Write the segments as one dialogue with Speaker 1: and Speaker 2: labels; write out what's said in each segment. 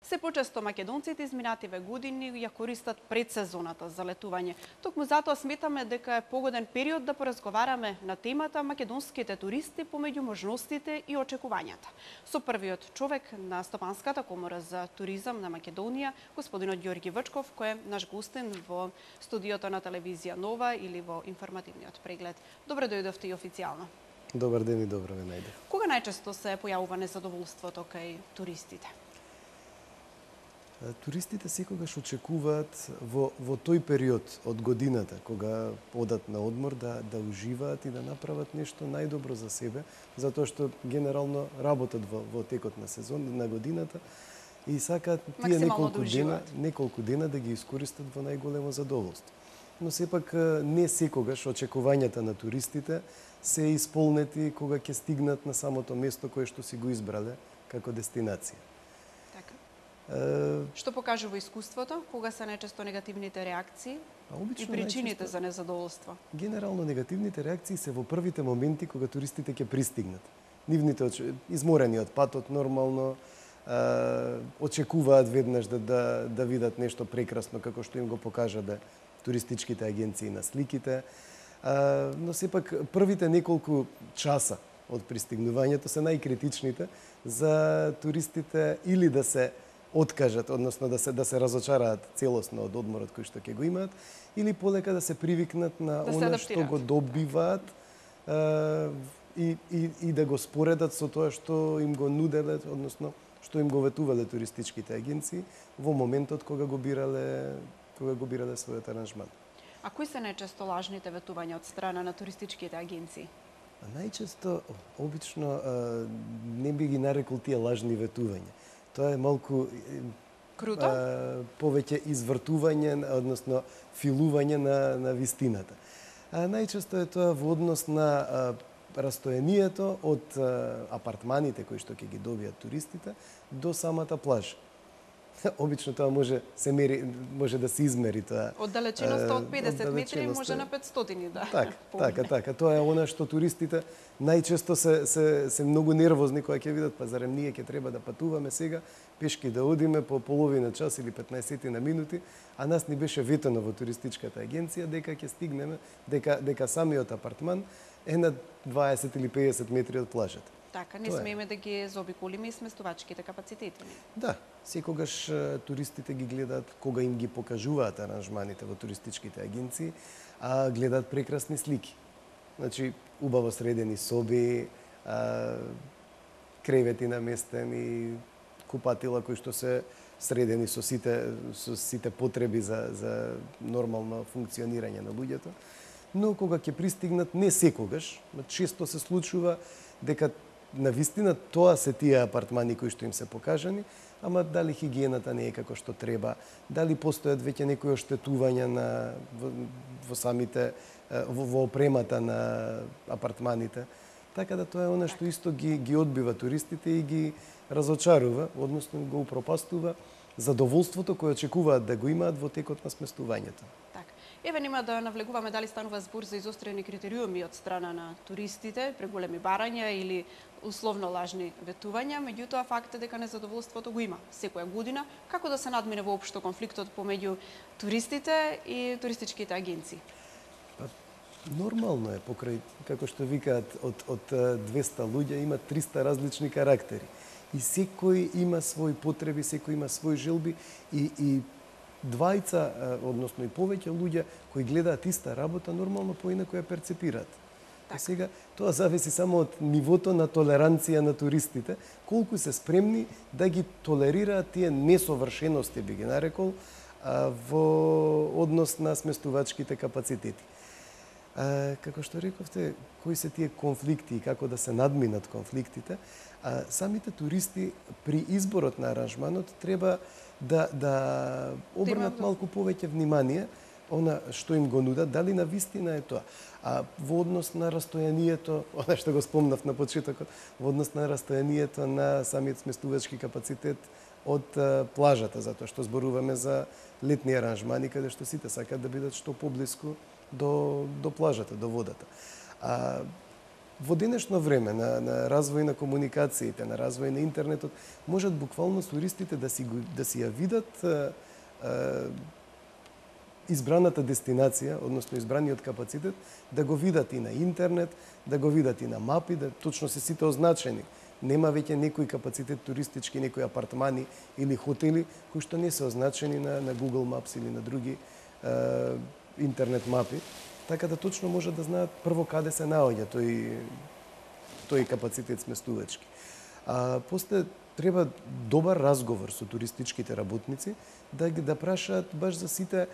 Speaker 1: Се почесто македонците изминативе години ја користат предсезоната за летување. Токму затоа сметаме дека е погоден период да поразговараме на темата македонските туристи помеѓу можностите и очекувањата. Со првиот човек на Стопанската комора за туризам на Македонија, господинот Ѓорги Вчков, кој е наш гостин во студиото на телевизија Нова или во информативниот преглед. Добре дојдовте и официјално.
Speaker 2: Добар ден и добро ве најдов.
Speaker 1: Кога најчесто се појавува незадоволството кај туристите?
Speaker 2: Туристите секогаш очекуваат во тој период од годината, кога одат на одмор, да уживаат и да направат нешто најдобро за себе, затоа што генерално работат во текот на на годината и сакаат тие неколку дена да ги искористат во најголемо задоволство. Но сепак не секогаш очекувањата на туристите се исполнети кога ќе стигнат на самото место кое што си го избрале како дестинација.
Speaker 1: Што покажува искуството? Кога се најчесто негативните реакции и причините за незадоволство?
Speaker 2: Генерално негативните реакции се во првите моменти кога туристите ќе пристигнат. Нивните изморени од патот нормално очекуваат веднаш да видат нешто прекрасно како што им го покажале туристичките агенции на сликите. Но сепак првите неколку часа од пристигнувањето се најкритичните за туристите или да се откажат, односно да се разочараат целосно од одморот кој што ќе го имаат, или полека да се привикнат на она што го добиваат и да го споредат со тоа што им го нуделе, односно што им го ветувале туристичките агенции во моментот кога го бирале својот аранжман.
Speaker 1: А кои се најчесто лажните ветувања од страна на туристичките агенции?
Speaker 2: Најчесто, обично, не би ги нарекол тие лажни ветувања. Тоа е малку
Speaker 1: круто,
Speaker 2: повеќе извртување, односно филување на вистината. Најчесто е тоа во однос на растојанието од апартманите кои што ќе ги добијат туристите до самата плажа. Обично тоа може да се измери тоа.
Speaker 1: Оддалеченоста од 50 метри може на 500 да.
Speaker 2: Така. Тоа е она што туристите најчесто се многу нервозни кога ќе видат, па зарем ние ќе треба да патуваме сега, пешки да одиме по половина час или 15 на минути, а нас ни беше ветено во туристичката агенција дека ќе стигнеме, дека самиот апартман е на 20 или 50 метри од плажата.
Speaker 1: Така, не смееме да ги заобиколиме и сместувачките капацитети.
Speaker 2: Да, секогаш туристите ги гледаат кога им ги покажуваат аранжманите во туристичките агенции, а гледаат прекрасни слики. Значи, убаво средени соби, кревети наместени, купатила кои што се средени со сите потреби за нормално функционирање на луѓето. Но кога ќе пристигнат, не секогаш, често се случува дека на вистина тоа се тие апартмани кои што им се покажани, ама дали хигиената не е како што треба, дали постојат веќе некои оштетувања во опремата на апартманите. Така да тоа е она што исто ги одбива туристите и ги разочарува, односно го упропастува задоволството кое очекуваат да го имаат во текот на сместувањето.
Speaker 1: Еве нема да навлегуваме дали станува збор за изострени критериуми од страна на туристите, преголеми барања или условно лажни ветувања, меѓутоа факт е дека незадоволството го има секоја година. Како да се надмине воопшто конфликтот помеѓу туристите и туристичките агенции?
Speaker 2: Нормално е, покрај, како што викаат, од 200 луѓе има 300 различни карактери. И секој има своји потреби, секој има своји желби и двајца, односно и повеќе луѓе кои гледаат иста работа, нормално поинако ја перцепираат. А сега, тоа зависи само од нивото на толеранција на туристите, колку се спремни да ги толерираат тие несовршености, би ги нарекол, во однос на сместувачките капацитети. Како што рековте, кои се тие конфликти и како да се надминат конфликтите, самите туристи при изборот на аранжманот треба да обрнат малку повеќе внимание она што им го нудат, дали на вистина е тоа. А во однос на растојанието, она што го спомнав на почетокот, во однос на растојанието на самиот сместувачки капацитет од плажата, затоа што зборуваме за летни аранжмани каде што сите сакаат да бидат што поблиску до плажата, до водата. во денешно време на развој на комуникациите, на развој на интернетот, можат буквално туристите да си ја видат избраната дестинација, односно избраниот капацитет, да го видат и на интернет, да го видат и на мапи, да точно се сите означени. Нема веќе некој капацитет туристички, некои апартмани или хотели кои што не се означени на Google Maps или на други интернет мапи, така да точно може да знаат прво каде се наоѓа тој капацитет сместувачки. После треба добар разговор со туристичките работници да прашаат баш за сите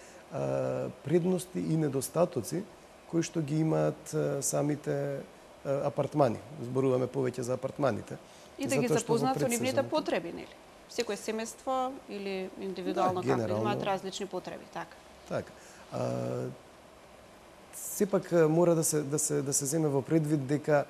Speaker 2: предности и недостатоци кои што ги имаат самите апартмани. Зборуваме повеќе за апартманите.
Speaker 1: И да ги запознаат со нивните потреби, нели? Секој семејство или индивидуално како имаат различни потреби, така.
Speaker 2: Така. Сепак мора да се земе во предвид дека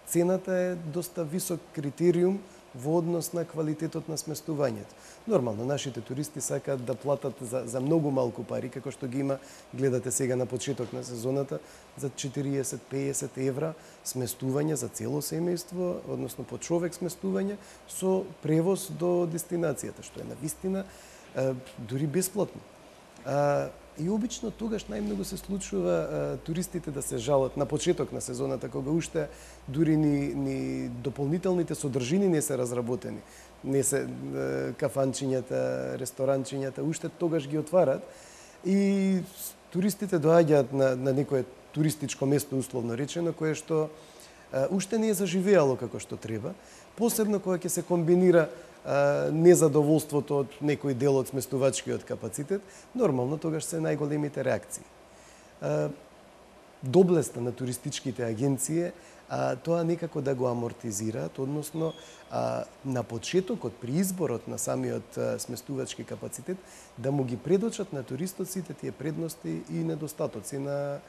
Speaker 2: цената е доста висок критериум во однос на квалитетот на сместувањето. Нормално, нашите туристи сакаат да платат за многу малку пари, како што ги има, гледате сега на почеток на сезоната, за 40-50 евра сместување за цело семејство, односно по човек сместување, со превоз до дестинацијата, што е навистина дури бесплатно. И обично тогаш најмногу се случува туристите да се жалат на почеток на сезоната, кога уште дури ни дополнителните содржини не се разработени. Не се кафанчињата, ресторанчињата, уште тогаш ги отварат и туристите доаѓаат на некое туристичко место, условно речено, кое што уште не е заживеало како што треба, посебно кога ќе се комбинира незадоволството од некој дел од сместувачкиот капацитет, нормално тогаш се најголемите реакции. Доблеста на туристичките агенции тоа некако да го амортизираат, односно на почетокот при изборот на самиот сместувачки капацитет да му ги предочат на туристот сите тие предности и недостатоци на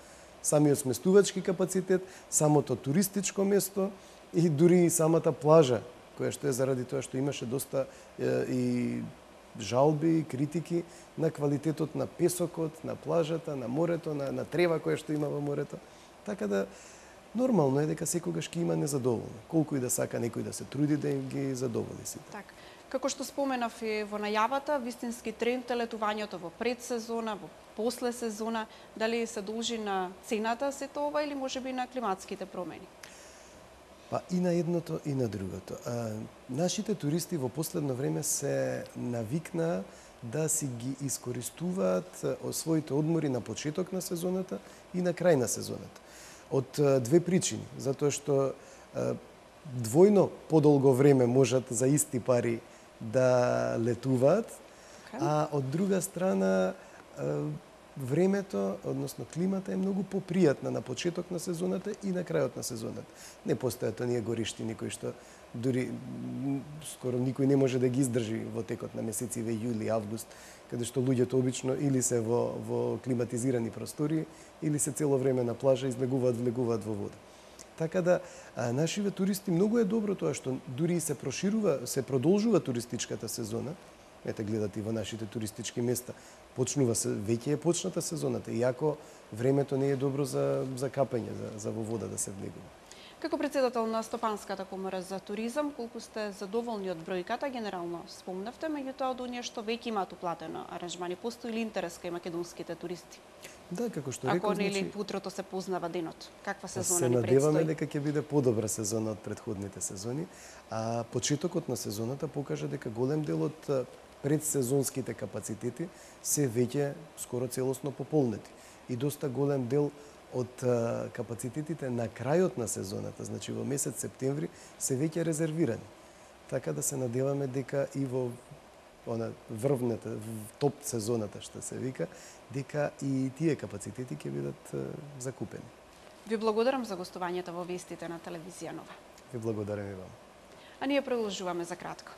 Speaker 2: самиот сместувачки капацитет, самото туристичко место и дури и самата плажа, која што е заради тоа што имаше доста и жалби и критики на квалитетот на песокот, на плажата, на морето, на трева која што има во морето. Така да нормално е дека секогаш ќе има незадоволни. Колку и да сака некој да се труди да им ги задоволи сите.
Speaker 1: Така. Како што споменав и во најавата, вистински тренд е летувањето во предсезона, во после сезона, дали се должи на цената сето ова или можеби на климатските промени?
Speaker 2: Па и на едното и на другото. Нашите туристи во последно време се навикнаа да си ги искористуваат своите одмори на почеток на сезоната и на крај на сезоната. Од две причини. Затоа што двојно подолго време можат за исти пари да летуваат, а од друга страна времето, односно климата е многу попријатна на почеток на сезоната и на крајот на сезоната. Не постојат оние гориштини кои што дури скоро никој не може да ги издржи во текот на месециве јули, август, каде што луѓето обично или се во климатизирани простории, или се цело време на плажа излегуваат, влегуваат во вода. Така да нашиве туристи многу е добро тоа што дури се продолжува туристичката сезона. Ете, гледате и во нашите туристички места. Почнува се, веќе е почната сезоната, иако времето не е добро за капање, за во вода да се влегува.
Speaker 1: Како председател на Стопанската комора за туризам, колку сте задоволни од бројката, генерално спомнавте, меѓутоа од оние што веќе имаат уплатено аранжмани, постои ли интерес кај македонските туристи?
Speaker 2: Да, како што реков,
Speaker 1: ако нели утрото се познава денот, каква сезона
Speaker 2: ни предстои? Се надеваме дека ќе биде подобра сезона од претходните сезони, а почетокот на сезоната покажа дека голем дел од предсезонските капацитети се веќе скоро целосно пополнети и доста голем дел од капацитетите на крајот на сезоната, значи во месец септември, се веќе резервирани. Така да се надеваме дека и во врвната, топ сезоната што се вика, дека и тие капацитети ќе бидат закупени.
Speaker 1: Ви благодарам за гостувањето во вестите на телевизија Нова.
Speaker 2: Ви благодарам и вам.
Speaker 1: А ние продолжуваме за кратко.